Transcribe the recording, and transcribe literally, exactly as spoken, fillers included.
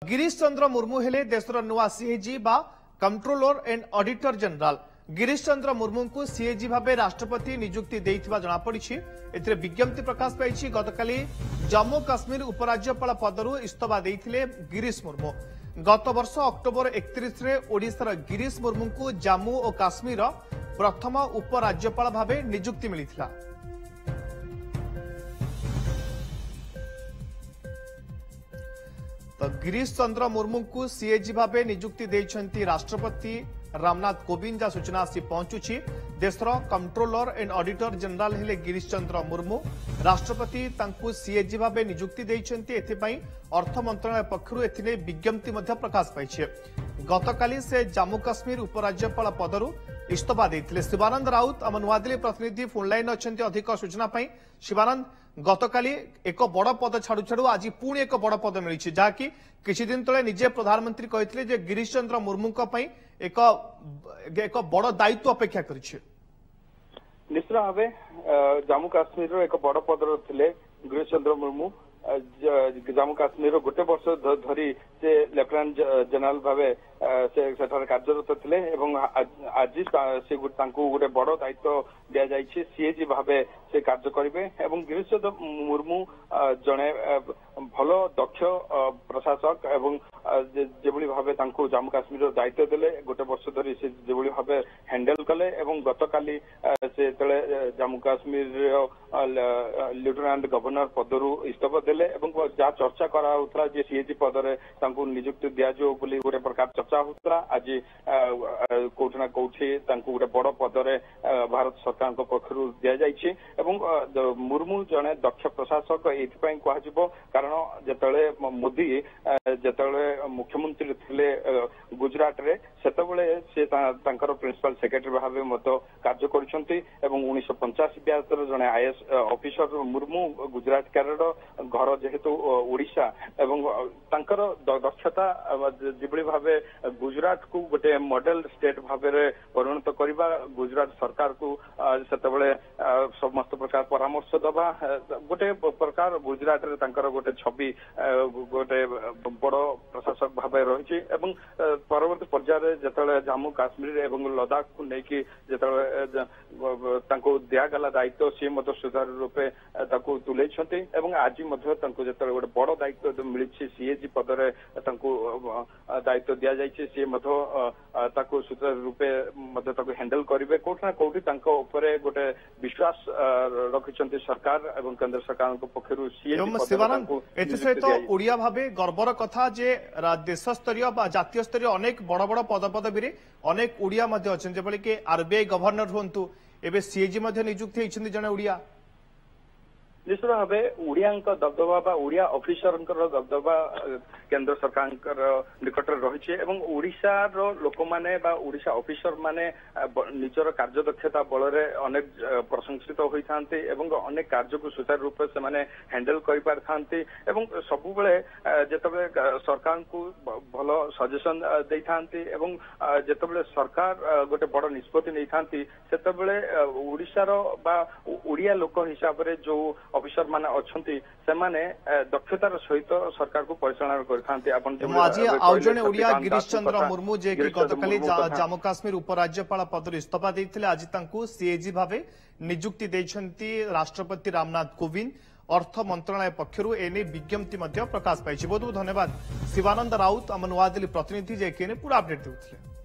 ଗିରିଶ ଚନ୍ଦ୍ର ମୁର୍ମୁ ହେଲେ ଦେଶର ନୂଆ ସିଏଜି ବା controller and auditor general. Girish Chandra ମୁର୍ମୁଙ୍କୁ ସିଏଜି ଭାବେ ରାଷ୍ଟ୍ରପତି ନିଯୁକ୍ତି ଦେଇଥିବା ଜଣାପଡ଼ିଛି। ଏଥିରେ ବିଜ୍ଞପ୍ତି ପ୍ରକାଶ ପାଇଛି। ଗତକାଲି ଜମ୍ମୁ କାଶ୍ମୀର ଉପରାଜ୍ୟପାଳ ପଦରୁ ଇସ୍ତଫା ଦେଇଥିଲେ ଗିରିଶ ମୁର୍ମୁ। ଗତ ବର୍ଷ ଅକ୍ଟୋବର ଏକତିରିଶରେ ଓଡ଼ିଶାର ଗିରିଶ ମୁର୍ମୁଙ୍କୁ ଜାମ୍ମୁ ଓ କାଶ୍ମୀରର ପ୍ରଥମ ଉପରାଜ୍ୟପାଳ ଭାବେ ନିଯୁକ୍ତି ମିଳିଥିଲା। ତ ଗିରିଶ ଚନ୍ଦ୍ର ମୁର୍ମୁଙ୍କୁ ସିଏଜି ଭାବେ ନିଯୁକ୍ତି ଦେଇଛନ୍ତି ରାଷ୍ଟ୍ରପତି ରାମନାଥ କୋବିନ୍ଦ, ଯାହା ସୂଚନା ଆସି ପହଞ୍ଚୁଛି। ଦେଶର କଣ୍ଟ୍ରୋଲର ଆଣ୍ଡ ଅଡିଟର ଜେନେରାଲ ହେଲେ ଗିରିଶ ଚନ୍ଦ୍ର ମୁର୍ମୁ। ରାଷ୍ଟ୍ରପତି ତାଙ୍କୁ ସିଏଜି ଭାବେ ନିଯୁକ୍ତି ଦେଇଛନ୍ତି। ଏଥିପାଇଁ ଅର୍ଥ ମନ୍ତ୍ରଣାଳୟ ପକ୍ଷରୁ ଏଥିନେଇ ବିଜ୍ଞପ୍ତି ମଧ୍ୟ ପ୍ରକାଶ ପାଇଛି। ଗତକାଲି ସେ ଜାମ୍ମୁ କାଶ୍ମୀର ଉପରାଜ୍ୟପାଳ ପଦରୁ ଇସ୍ତଫା ଦେଇଥିଲେ। ଶିବାନନ୍ଦ ରାଉତ ଆମ ନୂଆଦିଲ୍ଲୀ ପ୍ରତିନିଧି ଫୋନ୍ ଲାଇନ୍ ଅଛନ୍ତି ଅଧିକ ସୂଚନା ପାଇଁ। ଶିବାନନ୍ଦ, ଗତକାଲି ଏକ ବଡ଼ ପଦ ଛାଡୁ ଛାଡୁ ଆଜି ପୁଣି ଏକ ବଡ଼ ପଦ ମିଳିଛି, ଯାହାକି କିଛି ଦିନ ତଳେ ନିଜେ ପ୍ରଧାନମନ୍ତ୍ରୀ କହିଥିଲେ ଯେ ଗିରିଶ ଚନ୍ଦ୍ର ମୁର୍ମୁଙ୍କ ପାଇଁ ଏକ ଏକ ବଡ଼ ଦାୟିତ୍ୱ ଅପେକ୍ଷା କରିଛି। ନିଶ୍ଚିତ ଭାବେ ଜାମ୍ମୁ କାଶ୍ମୀରର ଏକ ବଡ଼ ପଦରେ ଥିଲେ ଗିରିଶ ଚନ୍ଦ୍ର ମୁର୍ମୁ। ଜାମ୍ମୁ କାଶ୍ମୀରର ଗୋଟେ ବର୍ଷ ଧରି ସେ ଲେଫ୍ଟନାଣ୍ଟ ଜେନେରାଲ ଭାବେ ସେ ସେଠାରେ କାର୍ଯ୍ୟରତ ଥିଲେ ଏବଂ ଆଜି ସେ ତାଙ୍କୁ ଗୋଟେ ବଡ ଦାୟିତ୍ୱ ଦିଆଯାଇଛି, ସିଏଜି ଭାବେ ସେ କାର୍ଯ୍ୟ କରିବେ। ଏବଂ ଗିରିଶ ଚନ୍ଦ୍ର ମୁର୍ମୁ ଜଣେ ଭଲ ଦକ୍ଷ ପ୍ରଶାସକ ଏବଂ ଯେଭଳି ଭାବେ ତାଙ୍କୁ ଜାମ୍ମୁ କାଶ୍ମୀରର ଦାୟିତ୍ୱ ଦେଲେ, ଗୋଟେ ବର୍ଷ ଧରି ସେ ଯେଭଳି ଭାବେ ହ୍ୟାଣ୍ଡେଲ କଲେ ଏବଂ ଗତକାଲି ସେ ଯେତେବେଳେ ଜାମ୍ମୁ କାଶ୍ମୀରର ଲେଫ୍ଟନାଣ୍ଟ ଗଭର୍ଣ୍ଣର ପଦରୁ ଇସ୍ତଫା ଦେଲେ ଏବଂ ଯାହା ଚର୍ଚ୍ଚା କରାଯାଉଥିଲା ଯେ ସିଏଜି ପଦରେ ତାଙ୍କୁ ନିଯୁକ୍ତି ଦିଆଯିବ ବୋଲି ଗୋଟେ ପ୍ରକାର ଚର୍ଚ୍ଚା ହଉଥିଲା, ଆଜି କୋଉଠି ନା କୋଉଠି ତାଙ୍କୁ ଗୋଟେ ବଡ ପଦରେ ଭାରତ ସରକାରଙ୍କ ପକ୍ଷରୁ ଦିଆଯାଇଛି। ଏବଂ ମୁର୍ମୁ ଜଣେ ଦକ୍ଷ ପ୍ରଶାସକ ଏଇଥିପାଇଁ କୁହାଯିବ, କାରଣ ଯେତେବେଳେ ମୋଦି ଯେତେବେଳେ ମୁଖ୍ୟମନ୍ତ୍ରୀ ଥିଲେ ଗୁଜରାଟରେ, ସେତେବେଳେ ସେ ତାଙ୍କର ପ୍ରିନ୍ସିପାଲ ସେକ୍ରେଟାରୀ ଭାବେ ମଧ୍ୟ କାର୍ଯ୍ୟ କରିଛନ୍ତି। ଏବଂ ଉଣେଇଶହ ପଞ୍ଚାଅଶୀ ବ୍ୟାଚର ଜଣେ IAS officer Murmu, Gujarat cadre, ଘର ଯେହେତୁ ଓଡିଶା, ଏବଂ ତାଙ୍କର ଦକ୍ଷତା ଯେଭଳି ଭାବେ ଗୁଜରାଟକୁ ଗୋଟେ ମଡେଲ ଷ୍ଟେଟ ଭାବରେ ପରିଣତ କରିବା, ଗୁଜରାଟ ସରକାରକୁ ସେତେବେଳେ ସମସ୍ତ ପ୍ରକାର ପରାମର୍ଶ ଦବା, ଗୋଟେ ପ୍ରକାର ଗୁଜରାଟରେ ତାଙ୍କର ଗୋଟେ ଛବି ଗୋଟେ ବଡ ପ୍ରଶାସକ ଭାବେ ରହିଛି। ଏବଂ ପରବର୍ତ୍ତୀ ପର୍ଯ୍ୟାୟରେ ଯେତେବେଳେ ଜାମ୍ମୁ କାଶ୍ମୀର ଏବଂ ଲଦାଖକୁ ନେଇକି ଯେତେବେଳେ ତାଙ୍କୁ ଦିଆଗଲା ଦାୟିତ୍ୱ, ସିଏ ମଧ୍ୟ ସୁଚାରୁ ରୂପେ ତାକୁ ତୁଲେଇଛନ୍ତି। ଏବଂ ଆଜି ମଧ୍ୟ ତାଙ୍କୁ ଯେତେବେଳେ ଗୋଟେ ବଡ ଦାୟିତ୍ୱ ମିଳିଛି, ସିଏଜି ପଦରେ ତାଙ୍କୁ ଦାୟିତ୍ୱ ଦିଆଯାଇଛି, ସିଏ ମଧ୍ୟ ତାକୁ ସୁଚାରୁ ରୂପେ ମଧ୍ୟ ତାକୁ ହ୍ୟାଣ୍ଡେଲ କରିବେ। କୋଉଠି ନା କୋଉଠି ତାଙ୍କ ଉପରେ ଗୋଟେ ବିଶ୍ୱାସ ରଖିଛନ୍ତି ସରକାର ଏବଂ କେନ୍ଦ୍ର ସରକାରଙ୍କ ପକ୍ଷରୁ ସିଏଜି। ଏଥିସହିତ ଓଡ଼ିଆ ଭାବେ ଗର୍ବର କଥା ଯେ ଦେଶ ସ୍ତରୀୟ ବା ଜାତୀୟ ସ୍ତରୀୟ ଅନେକ ବଡ଼ ବଡ଼ ପଦପଦବୀରେ ଅନେକ ଓଡ଼ିଆ ମଧ୍ୟ ଅଛନ୍ତି, ଯେଭଳିକି ଆରବିଆଇ ଗଭର୍ଣ୍ଣର ହୁଅନ୍ତୁ, ଏବେ ସିଏଜି ମଧ୍ୟ ନିଯୁକ୍ତି ହେଇଛନ୍ତି ଜଣେ ଓଡ଼ିଆ। ନିଶ୍ଚିତ ଭାବେ ଓଡ଼ିଆଙ୍କ ଦବଦବା ବା ଓଡ଼ିଆ ଅଫିସରଙ୍କର ଦବଦବା କେନ୍ଦ୍ର ସରକାରଙ୍କର ନିକଟରେ ରହିଛି ଏବଂ ଓଡ଼ିଶାର ଲୋକମାନେ ବା ଓଡ଼ିଶା ଅଫିସର ମାନେ ନିଜର କାର୍ଯ୍ୟଦକ୍ଷତା ବଳରେ ଅନେକ ପ୍ରଶଂସିତ ହୋଇଥାନ୍ତି ଏବଂ ଅନେକ କାର୍ଯ୍ୟକୁ ସୁଚାରୁ ରୂପେ ସେମାନେ ହ୍ୟାଣ୍ଡେଲ କରିପାରିଥାନ୍ତି ଏବଂ ସବୁବେଳେ ଯେତେବେଳେ ସରକାରଙ୍କୁ ଭଲ ସଜେସନ ଦେଇଥାନ୍ତି ଏବଂ ଯେତେବେଳେ ସରକାର ଗୋଟେ ବଡ ନିଷ୍ପତ୍ତି ନେଇଥାନ୍ତି, ସେତେବେଳେ ଓଡ଼ିଶାର ବା ଓଡ଼ିଆ ଲୋକ ହିସାବରେ ଯୋଉ ଅଫିସର ମାନେ ଅଛନ୍ତି, ସେମାନେ ଦକ୍ଷତାର ସହିତ ସରକାରକୁ ପରିଚାଳନା କରିଥାନ୍ତି। ଆପଣ ଆଜି ଆଉ ଜଣେ ଓଡ଼ିଆ ଗିରିଶ ଚନ୍ଦ୍ର ମୁର୍ମୁ, ଯିଏକି ଗତକାଲି ଜାମ୍ମୁ କାଶ୍ମୀର ଉପରାଜ୍ୟପାଳ ପଦରୁ ଇସ୍ତଫା ଦେଇଥିଲେ, ଆଜି ତାଙ୍କୁ ସିଏଜି ଭାବେ ନିଯୁକ୍ତି ଦେଇଛନ୍ତି ରାଷ୍ଟ୍ରପତି ରାମନାଥ କୋବିନ୍ଦ। ଅର୍ଥ ମନ୍ତ୍ରଣାଳୟ ପକ୍ଷରୁ ଏନେଇ ବିଜ୍ଞପ୍ତି ମଧ୍ୟ ପ୍ରକାଶ ପାଇଛି। ବହୁତ ବହୁତ ଧନ୍ୟବାଦ ଶିବାନନ୍ଦ ରାଉତ, ଆମ ନୂଆଦିଲ୍ଲୀ ପ୍ରତିନିଧି, ଯିଏକି ଏନେ ପୁରା ଅପଡେଟ୍ ଦେଉଥିଲେ।